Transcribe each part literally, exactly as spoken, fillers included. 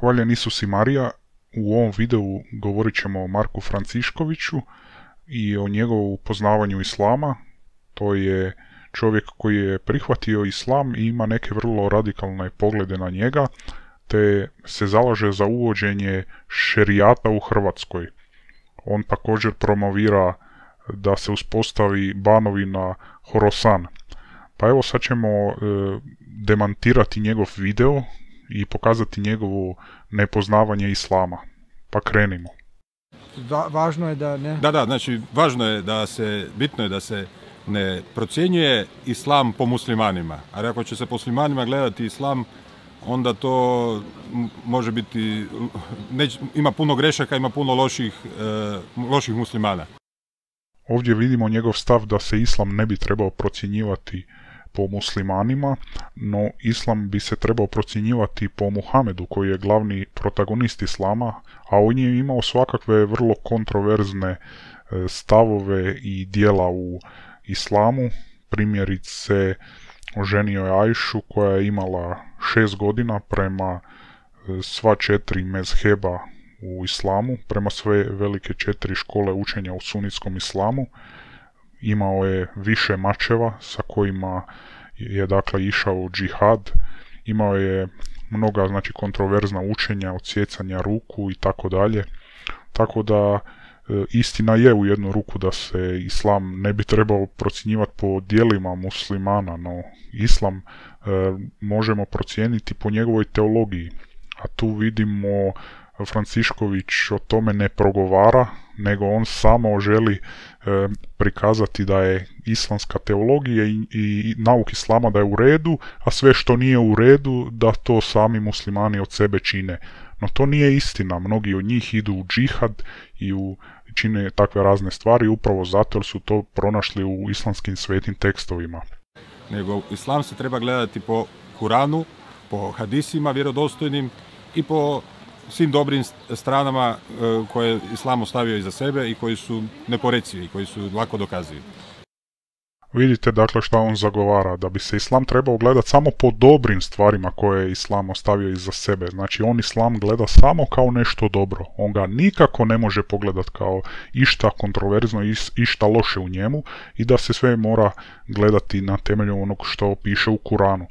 Hvaljen Isus i Marija. U ovom videu govorit ćemo o Marku Franciškoviću i o njegovom upoznavanju islama. To je čovjek koji je prihvatio islam i ima neke vrlo radikalne poglede na njega, te se zalaže za uvođenje šerijata u Hrvatskoj. On također promovira da se uspostavi banovina Horasan. Pa evo sad ćemo e, demantirati njegov video i pokazati njegovo nepoznavanje islama. Pa krenimo. Va, važno je da ne... Da, da, znači važno je da se, bitno je da se ne procjenjuje islam po muslimanima. Ali ako će se po muslimanima gledati islam, onda to može biti, neć, ima puno grešaka, ima puno loših, e, loših muslimana. Ovdje vidimo njegov stav da se islam ne bi trebao procjenjivati po muslimanima, no islam bi se trebao procjenjivati po Muhamedu, koji je glavni protagonist islama, a on je imao svakakve vrlo kontroverzne stavove i dijela u islamu. Primjerice, oženio je Ajšu koja je imala šest godina prema sva četiri mezheba u islamu, prema sve velike četiri škole učenja u sunitskom islamu. Imao je više mačeva sa kojima je dakle išao u džihad. Imao je mnoga znači kontroverzna učenja, odsjecanja ruku i tako dalje. Tako da e, istina je u jednu ruku da se islam ne bi trebao procjenjivati po dijelima muslimana, no islam e, možemo procijeniti po njegovoj teologiji. A tu vidimo Francišković o tome ne progovara, nego on samo želi e, prikazati da je islamska teologija i, i nauk islama da je u redu, a sve što nije u redu da to sami muslimani od sebe čine. No to nije istina, mnogi od njih idu u džihad i u, čine takve razne stvari upravo zato jer su to pronašli u islamskim svetim tekstovima. Nego islam se treba gledati po Kuranu, po hadisima vjerodostojnim i po svim dobrim stranama koje je islam ostavio iza sebe i koji su neporecivi, koji su lako dokazivi. Vidite dakle šta on zagovara, da bi se islam trebao gledati samo po dobrim stvarima koje je islam ostavio iza sebe. Znači on islam gleda samo kao nešto dobro. On ga nikako ne može pogledati kao išta kontroverzno, išta loše u njemu i da se sve mora gledati na temelju onog što piše u Kuranu.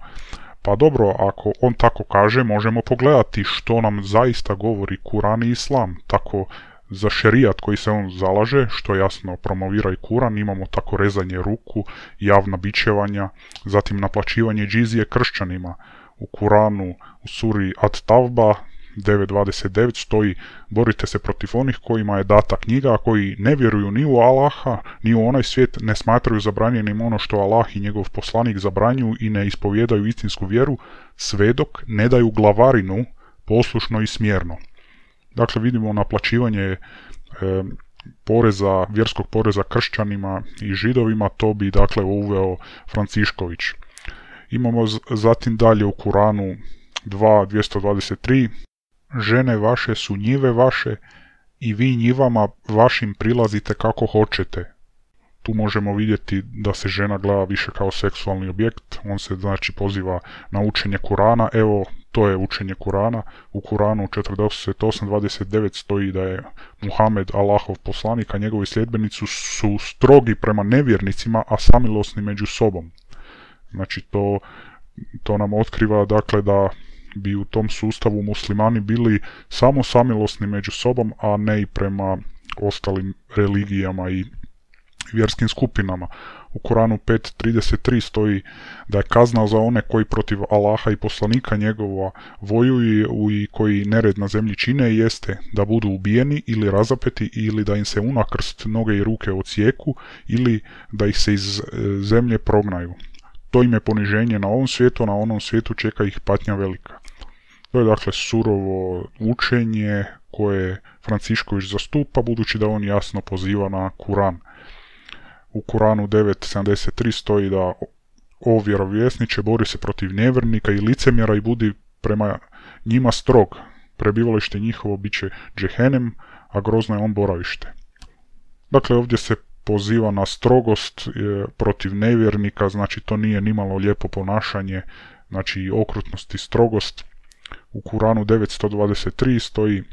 Pa dobro, ako on tako kaže, možemo pogledati što nam zaista govori Kuran i Islam. Tako za šerijat koji se on zalaže, što jasno promovira i Kuran, imamo tako rezanje ruku, javna bičevanja, zatim naplaćivanje džizije kršćanima. U Kuranu, u suri At-Tavba devet dvadeset devet stoji: borite se protiv onih kojima je data knjiga, a koji ne vjeruju ni u Allaha, ni u onaj svijet, ne smatraju zabranjenim ono što Allah i njegov poslanik zabranjuju i ne ispovjedaju istinsku vjeru, sve dok ne daju glavarinu poslušno i smjerno. Dakle, vidimo naplaćivanje e, poreza, vjerskog poreza kršćanima i židovima, to bi dakle uveo Francišković. Imamo zatim dalje u Kuranu dva dvjesto dvadeset tri: žene vaše su njive vaše i vi njivama vašim prilazite kako hoćete. Tu možemo vidjeti da se žena gleda više kao seksualni objekt. On se znači poziva na učenje Kurana. Evo, to je učenje Kurana. U Kuranu četrdeset osam dvadeset devet stoji da je Muhamed Allahov poslanik, a njegovi sljedbenici su strogi prema nevjernicima, a samilosni među sobom. Znači to, to nam otkriva dakle da bi u tom sustavu muslimani bili samo samilosni među sobom, a ne i prema ostalim religijama i vjerskim skupinama. U Koranu pet trideset tri stoji da je kazna za one koji protiv Allaha i poslanika njegova vojuju i koji nered na zemlji čine jeste da budu ubijeni ili razapeti ili da im se unakrst noge i ruke odsjeku ili da ih se iz zemlje prognaju. To im je poniženje na ovom svijetu, a na onom svijetu čeka ih patnja velika. To je dakle surovo učenje koje Francišković zastupa, budući da on jasno poziva na Kuran. U Kuranu devet sedamdeset tri stoji da: o vjerovjesniče, bori se protiv nevjernika i licemjera i budi prema njima strog. Prebivalište njihovo bit će džehenem, a grozno je on boravište. Dakle, ovdje se poziva na strogost e, protiv nevjernika, znači to nije nimalo lijepo ponašanje, znači okrutnost i strogost. u Kuranu devetsto dvadeset tri stoji: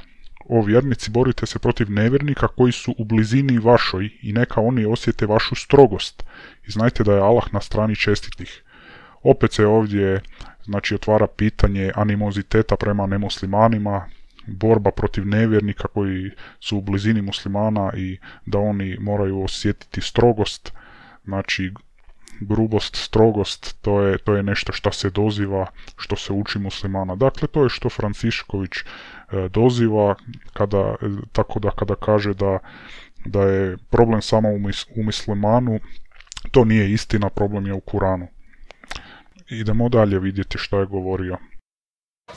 o vjernici, borite se protiv nevjernika koji su u blizini vašoj i neka oni osjete vašu strogost. I znajte da je Allah na strani čestitih. Opet se ovdje znači otvara pitanje animoziteta prema nemuslimanima, borba protiv nevjernika koji su u blizini muslimana i da oni moraju osjetiti strogost, znači grubost, strogost, to je, to je nešto što se doziva, što se uči muslimana. Dakle, to je što Francišković e, doziva, kada, tako da kada kaže da, da je problem samo u, mis, u muslimanu, to nije istina, problem je u Kuranu. Idemo dalje vidjeti što je govorio.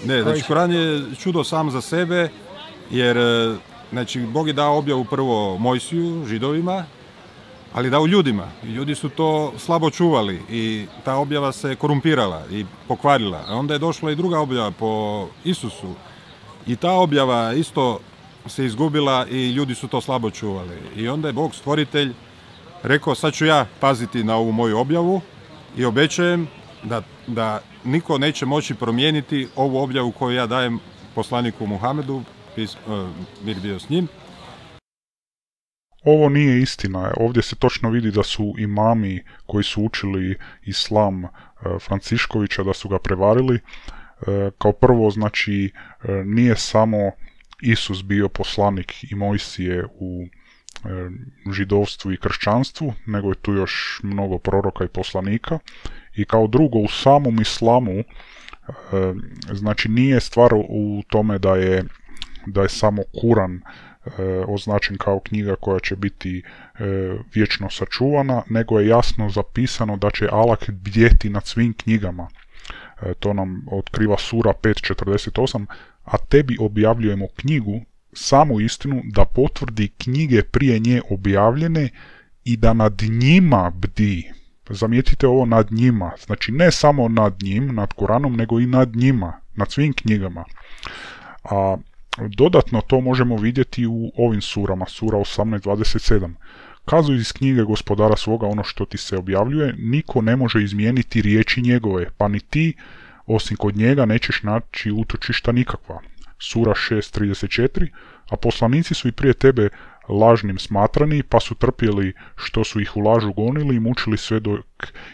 Ne, znači Kuran je čudo sam za sebe, jer znači, Bog je dao objavu prvo Mojsiju, Židovima, ali dao ljudima. I ljudi su to slabo čuvali i ta objava se korumpirala i pokvarila. A onda je došla i druga objava po Isusu i ta objava isto se izgubila i ljudi su to slabo čuvali. I onda je Bog stvoritelj rekao: sad ću ja paziti na ovu moju objavu i obećajem da, da niko neće moći promijeniti ovu objavu koju ja dajem poslaniku Muhamedu, mir bio s njim. Ovo nije istina. Ovdje se točno vidi da su imami koji su učili islam Franciškovića, da su ga prevarili. Kao prvo, znači, nije samo Isus bio poslanik i Mojsije u židovstvu i kršćanstvu, nego je tu još mnogo proroka i poslanika. I kao drugo, u samom islamu, znači nije stvar u tome da je, da je samo Kuran označen kao knjiga koja će biti vječno sačuvana, nego je jasno zapisano da će Allah bdjeti nad svim knjigama. To nam otkriva sura pet četrdeset osam, a tebi objavljujemo knjigu, samu istinu, da potvrdi knjige prije nje objavljene i da nad njima bdi. Zamijetite ovo, nad njima, znači ne samo nad njim, nad Kuranom, nego i nad njima, nad svim knjigama. A dodatno to možemo vidjeti u ovim surama, sura osamnaest dvadeset sedam. Kazuj iz knjige gospodara svoga ono što ti se objavljuje, niko ne može izmijeniti riječi njegove, pa ni ti, osim kod njega, nećeš naći utočišta nikakva. Sura šest trideset četiri. A poslanici su i prije tebe lažnim smatrani, pa su trpjeli što su ih u lažu gonili i mučili sve dok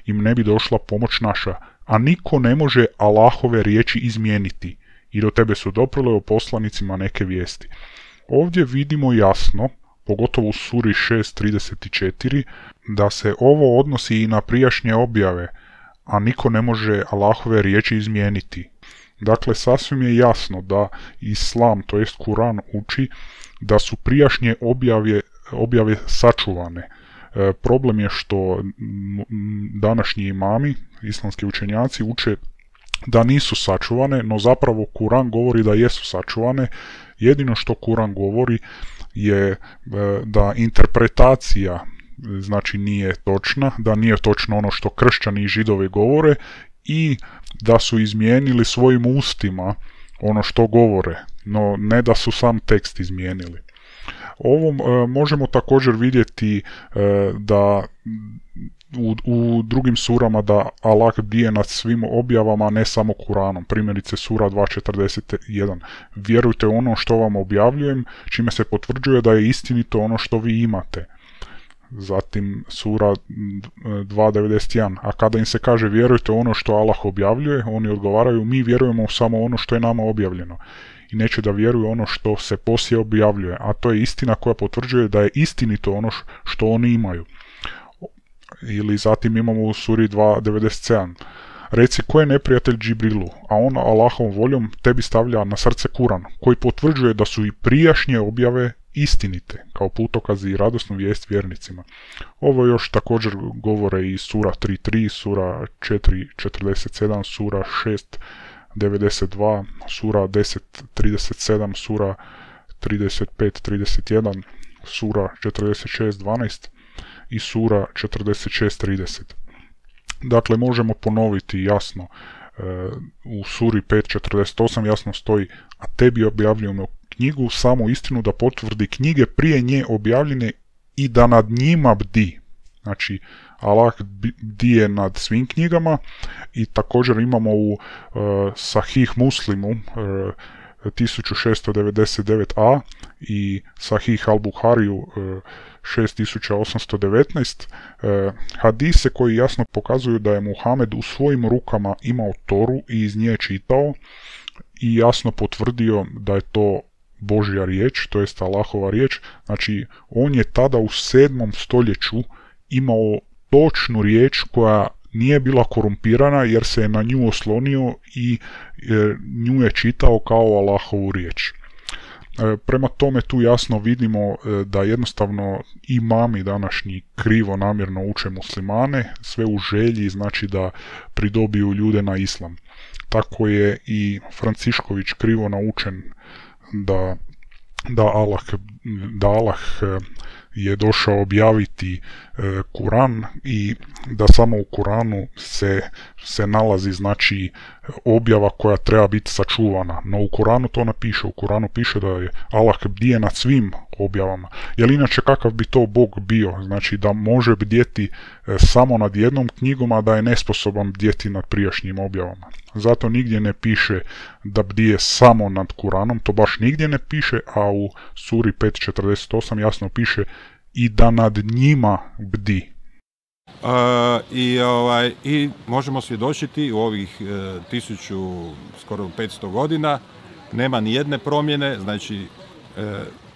im ne bi došla pomoć naša. A niko ne može Allahove riječi izmijeniti. I do tebe su doprle o poslanicima neke vijesti. Ovdje vidimo jasno, pogotovo u suri šest trideset četiri, da se ovo odnosi i na prijašnje objave, a niko ne može Allahove riječi izmijeniti. Dakle, sasvim je jasno da Islam, to jest Kuran, uči da su prijašnje objave, objave sačuvane. E, problem je što današnji imami, islamski učenjaci, uče da nisu sačuvane, no zapravo Kuran govori da jesu sačuvane. Jedino što Kuran govori je e, da interpretacija znači nije točna, da nije točno ono što kršćani i židovi govore i da su izmijenili svojim ustima ono što govore, no ne da su sam tekst izmijenili. Ovom e, možemo također vidjeti e, da u, u drugim surama da Allah bdije nad svim objavama, ne samo Kuranom. Primjerice sura dva četrdeset jedan. Vjerujte ono što vam objavljujem, čime se potvrđuje da je istinito ono što vi imate. Zatim sura dva devedeset jedan. A kada im se kaže vjerujte ono što Allah objavljuje, oni odgovaraju mi vjerujemo samo ono što je nama objavljeno. I neće da vjeruju ono što se poslije objavljuje. A to je istina koja potvrđuje da je istinito ono što oni imaju. Ili zatim imamo u suri dva devedeset sedam. Reci ko je neprijatelj Džibrilu, a on Allahovom voljom tebi stavlja na srce Kuran, koji potvrđuje da su i prijašnje objave istinite, kao putokaz i radosnu vijest vjernicima. Ovo još također govore i sura tri tri, sura četiri četrdeset sedam, sura šest devedeset dva, sura deset trideset sedam, sura trideset pet trideset jedan, sura četrdeset šest dvanaest i sura četrdeset šest trideset. Dakle, možemo ponoviti jasno, e, u suri pet četrdeset osam jasno stoji, a tebi objavljujemo knjigu, samo istinu da potvrdi knjige prije nje objavljene i da nad njima bdi. Znači, Allah bdije nad svim knjigama, i također imamo u uh, Sahih Muslimu uh, tisuću šesto devedeset devet a i Sahih al-Buhariju uh, šest tisuća osamsto devetnaest uh, hadise koji jasno pokazuju da je Muhamed u svojim rukama imao Toru i iz nje čitao i jasno potvrdio da je to Božja riječ, to jest Allahova riječ. Znači, on je tada u sedmom stoljeću imao točnu riječ koja nije bila korumpirana, jer se je na nju oslonio i e, nju je čitao kao Allahovu riječ. E, prema tome tu jasno vidimo e, da jednostavno imami današnji krivo namjerno uče muslimane, sve u želji, znači da pridobiju ljude na islam. Tako je i Francišković krivo naučen da, da Allah, da Allah je došao objaviti e, Kuran i da samo u Kuranu se, se nalazi znači objava koja treba biti sačuvana. No u Kuranu to ne piše, u Kuranu piše da je Allah bdije nad svim objavama. Jer inače kakav bi to Bog bio? Znači da može bdjeti e, samo nad jednom knjigom, a da je nesposoban bdjeti nad prijašnjim objavama. Zato nigdje ne piše da bdije samo nad Kuranom, to baš nigdje ne piše, a u suri pet četrdeset osam jasno piše i da nad njima bdi. Uh, i, ovaj, I možemo svjedočiti u ovih uh, tisuću, skoro petsto godina, nema ni jedne promjene, znači uh,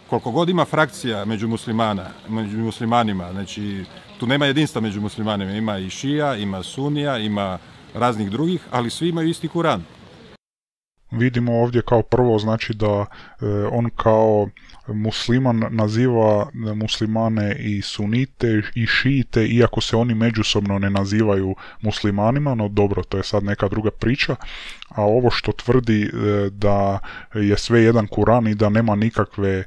koliko god ima frakcija među muslimana, među muslimanima, znači tu nema jedinstva među muslimanima, ima i šija, ima sunija, ima raznih drugih, ali svi imaju isti Kuran. Vidimo ovdje kao prvo znači da e, on kao musliman naziva muslimane i sunite i šijite, iako se oni međusobno ne nazivaju muslimanima, no dobro, to je sad neka druga priča. A ovo što tvrdi e, da je sve jedan Kuran i da nema nikakve e,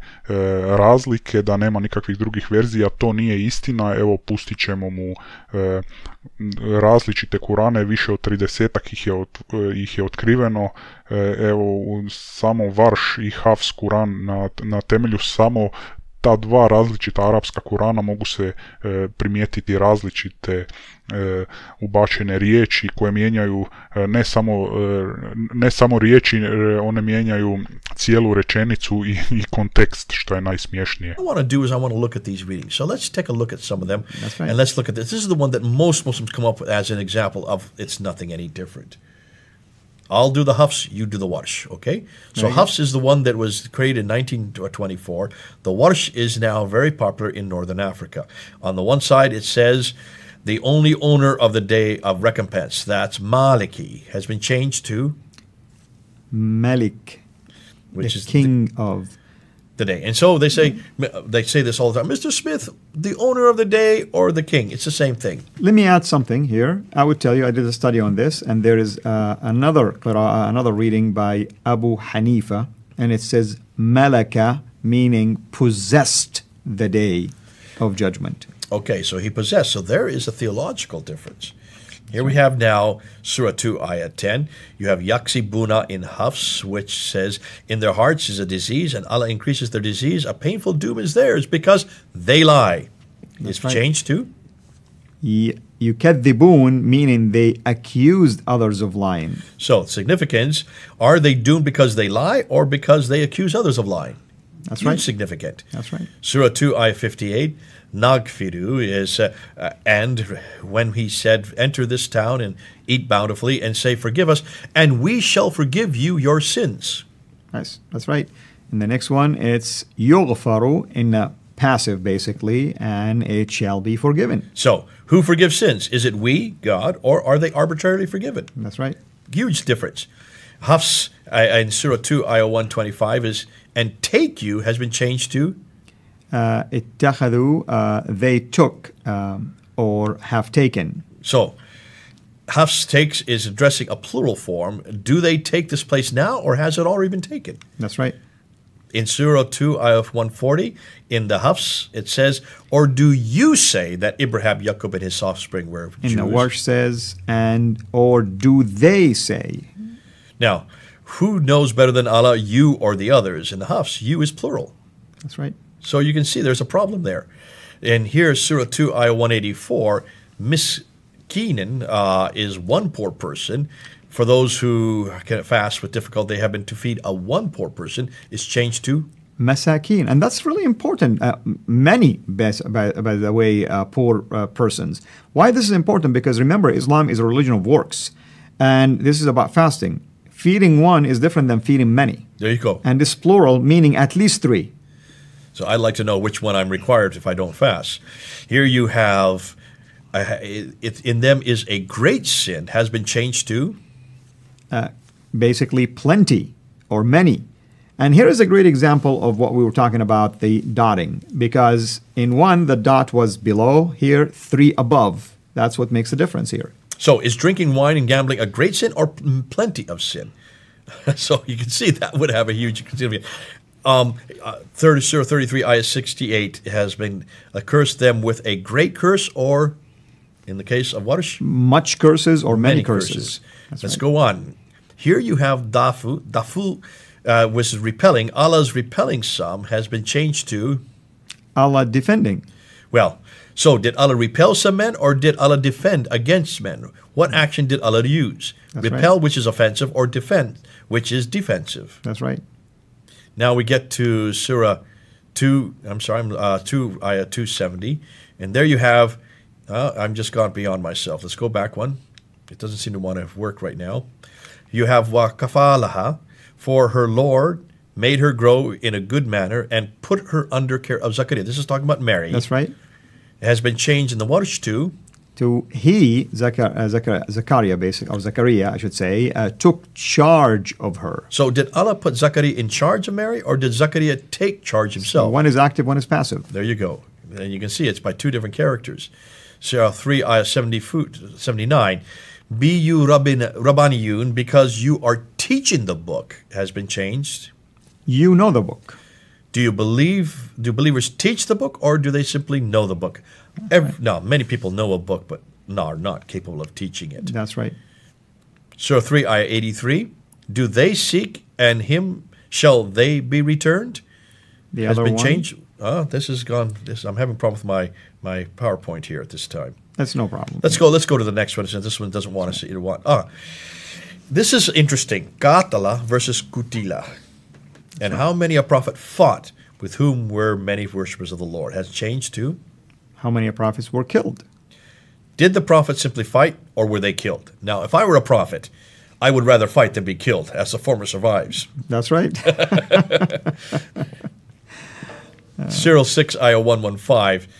razlike, da nema nikakvih drugih verzija, to nije istina. Evo, pustit ćemo mu e, različite Kurane, više od tridesetak ih je, od, ih je otkriveno. E, evo, samo Varš i Hafs Kuran, na, na temelju samo ta dva različita arapska Kurana mogu se e, primijetiti različite e, ubačene riječi koje mijenjaju e, ne, samo, e, ne samo riječi, e, one mijenjaju cijelu rečenicu i, i kontekst, što je najsmješnije. What I want to do is I want to look at these readings. So let's take a look at some of them. That's right. And let's look at this. This is the one that most Muslims come up with as an example of it's nothing any different. I'll do the Hafs, you do the Warsh, okay? So Right. Hafs is the one that was created in nineteen twenty-four. The Warsh is now very popular in Northern Africa. On the one side, it says, the only owner of the day of recompense, that's Maliki, has been changed to, Malik, which the is king of the day. And so they say, they say this all the time, Mister Smith, the owner of the day or the king, it's the same thing. Let me add something here. I would tell you, I did a study on this, and there is uh, another qira'ah, another reading by Abu Hanifa, and it says Malaka, meaning possessed the day of judgment. Okay, so he possessed. So there is a theological difference. Here we have now Surah two, Ayah ten. You have Yaksibuna in Hafs, which says, in their hearts is a disease, and Allah increases their disease. A painful doom is theirs because they lie. That's It's right. changed to? Yukadhibun, meaning they accused others of lying. So, significance, are they doomed because they lie or because they accuse others of lying? That's Huge right. significant. That's right. Surah two, Ayah fifty-eight, Nagfiru is, uh, uh, and when he said, enter this town and eat bountifully and say, forgive us, and we shall forgive you your sins. Nice. That's right. And the next one, it's yughfaru in a passive, basically, and it shall be forgiven. So, who forgives sins? Is it we, God, or are they arbitrarily forgiven? That's right. Huge difference. Hafs uh, in Surah two, Ayah one twenty-five is, and take you has been changed to, Uh, ittakhadhu, uh, they took um, or have taken. so Hafs takes is addressing a plural form. Do they take this place now or has it already been taken? That's right. In Surah two, Ayah one forty, in the Hafs, it says, or do you say that Abraham, Jacob, and his offspring were In Jews? the Warsh says, and or do they say? Now, who knows better than Allah, you or the others? In the Hafs, you is plural. That's right. So you can see there's a problem there. And here, Surah two, Ayah one eighty-four, Miskinen uh, is one poor person. For those who can fast with difficulty, they happen to feed a one poor person, is changed to Masakin. And that's really important. Uh, many, by, by, by the way, uh, poor uh, persons. Why this is important? Because remember, Islam is a religion of works. And this is about fasting. Feeding one is different than feeding many. There you go. And this plural meaning at least three. So I'd like to know which one I'm required if I don't fast. Here you have, uh, it, it, in them is a great sin, has been changed to? Uh, basically plenty or many. And here is a great example of what we were talking about, the dotting. Because in one, the dot was below, here, three above. That's what makes the difference here. So is drinking wine and gambling a great sin or plenty of sin? So you can see that would have a huge significance. Um, uh, thirty, Surah thirty-three, ayah sixty-eight has been uh, cursed them with a great curse, or in the case of Warsh, much curses or many, many curses. curses. Let's right. go on. Here you have dafu. Dafu, uh, which is repelling. Allah's repelling some has been changed to Allah defending. Well, so did Allah repel some men, or did Allah defend against men? What action did Allah use? That's repel, right. which is offensive, or defend, which is defensive. That's right. Now we get to Surah two, I'm sorry, uh, two, ayah two seventy. And there you have, uh, I'm just gone beyond myself. Let's go back one. It doesn't seem to want to work right now. You have wa kafalaha, for her Lord made her grow in a good manner and put her under care of Zachariah. This is talking about Mary. That's right. It has been changed in the Warsh to to he, Zachar, uh, Zachar, Zachariah, basically, or Zachariah, I should say, uh, took charge of her. So did Allah put Zachariah in charge of Mary, or did Zachariah take charge himself? So one is active, one is passive. There you go. And you can see it's by two different characters. Surah three, ayah seventy-nine. Be you rabbin, rabbaniyun, because you are teaching the book, has been changed. You know the book. Do you believe, do believers teach the book, or do they simply know the book? Every, no, many people know a book, but no, are not capable of teaching it. That's right. Surah three, ayah eighty-three. Do they seek, and him shall they be returned? The has other been one? changed. Oh, this is gone. This I'm having a problem with my, my PowerPoint here at this time. That's no problem. Let's go. Let's go to the next one, since this one doesn't want to see it. Want ah, this is interesting. Qatala versus Qutila, and how many a prophet fought with whom were many worshippers of the Lord has changed to. How many prophets were killed? Did the prophet simply fight, or were they killed? Now, if I were a prophet, I would rather fight than be killed, as the former survives. That's right. Surah six, ayah one fifteen.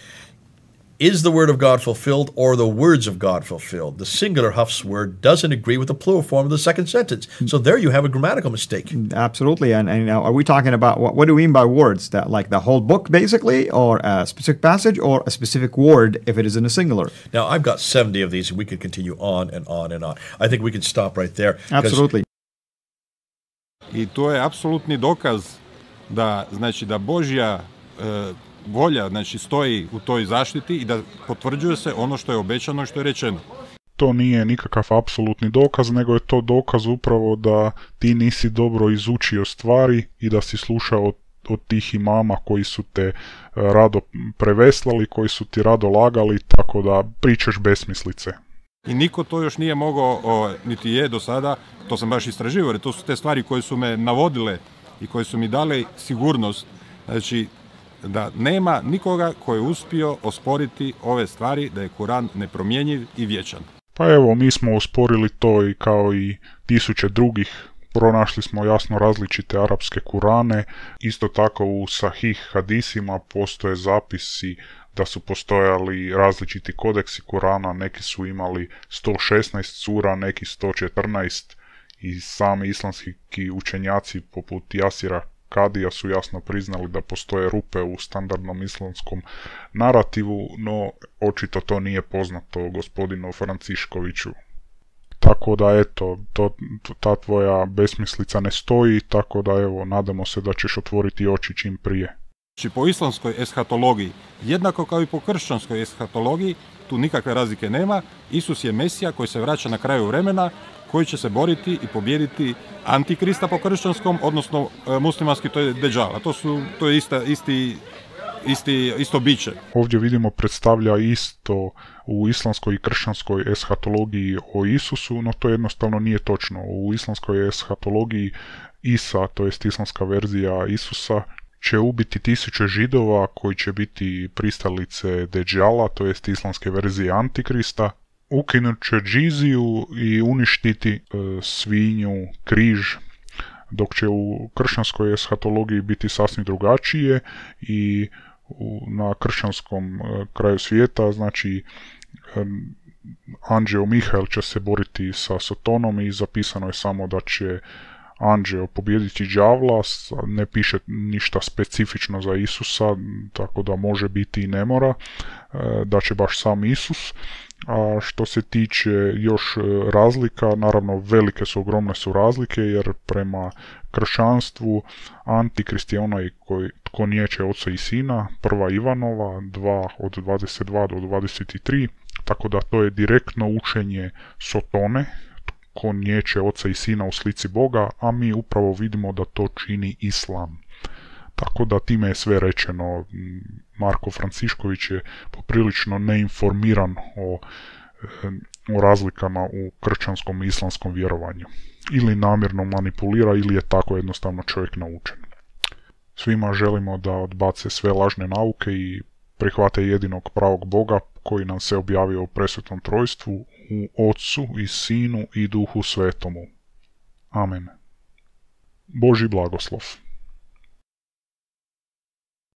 Is the word of God fulfilled, or the words of God fulfilled? The singular Hafs word doesn't agree with the plural form of the second sentence. So there you have a grammatical mistake. Absolutely. And, and now, are we talking about, what, what do we mean by words? That like the whole book, basically, or a specific passage, or a specific word if it is in a singular? Now, I've got seventy of these, and we could continue on and on and on. I think we can stop right there. Absolutely. I to je apsolutni dokaz da, znači, da Božja e, volja, znači, stoji u toj zaštiti i da potvrđuje se ono što je obećano i što je rečeno. To nije nikakav apsolutni dokaz, nego je to dokaz upravo da ti nisi dobro izučio stvari i da si slušao od, od tih imama koji su te rado preveslali, koji su ti rado lagali, tako da pričaš besmislice. I niko to još nije mogao, o, niti je do sada, to sam baš istraživao, jer to su te stvari koje su me navodile i koje su mi dale sigurnost, znači da nema nikoga koji je uspio osporiti ove stvari, da je Kuran nepromjenjiv i vječan. Pa evo, mi smo osporili to i kao i tisuće drugih. Pronašli smo jasno različite arapske Kurane. Isto tako u Sahih hadisima postoje zapisi da su postojali različiti kodeksi Kurana. Neki su imali sto šesnaest sura, neki sto četrnaest i sami islamski učenjaci poput Jasira Kadija su jasno priznali da postoje rupe u standardnom islamskom narativu, no očito to nije poznato gospodinu Franciškoviću. Tako da eto, to, ta tvoja besmislica ne stoji, tako da evo, nadamo se da ćeš otvoriti oči čim prije. Znači po islamskoj eshatologiji, jednako kao i po kršćanskoj eshatologiji, tu nikakve razlike nema, Isus je Mesija koji se vraća na kraju vremena, koji će se boriti i pobijediti Antikrista po kršćanskom, odnosno e, muslimanski, to je Deđal. A to, su, to je ista, isti isti, isto biće. Ovdje vidimo predstavlja isto u islamskoj i kršćanskoj eshatologiji o Isusu, no to jednostavno nije točno. U islamskoj eshatologiji Isa, to jest islamska verzija Isusa, će ubiti tisuće židova koji će biti pristalice Deđala, to jest islamske verzije Antikrista, ukinut će džiziju i uništiti e, svinju, križ, dok će u kršćanskoj eshatologiji biti sasvim drugačije i u, na kršćanskom e, kraju svijeta, znači e, anđeo Mihael će se boriti sa Satanom i zapisano je samo da će anđeo pobijediti đavla, ne piše ništa specifično za Isusa, tako da može biti i ne mora, da će baš sam Isus. A što se tiče još razlika, naravno velike su, ogromne su razlike, jer prema kršćanstvu Antikrist je onaj koji tko niječe Oca i Sina, prva Ivanova, dva od dvadeset dva do dvadeset tri, tako da to je direktno učenje Sotone, ko niječe Oca i Sina u slici Boga, a mi upravo vidimo da to čini Islam. Tako da time je sve rečeno. Marko Francišković je poprilično neinformiran o, o razlikama u kršćanskom i islamskom vjerovanju. Ili namjerno manipulira, ili je tako jednostavno čovjek naučen. Svima želimo da odbace sve lažne nauke i prihvate jedinog pravog Boga koji nam se objavio u presvetom trojstvu, u Otcu i Sinu i Duhu Svetomu. Amen. Božji blagoslov.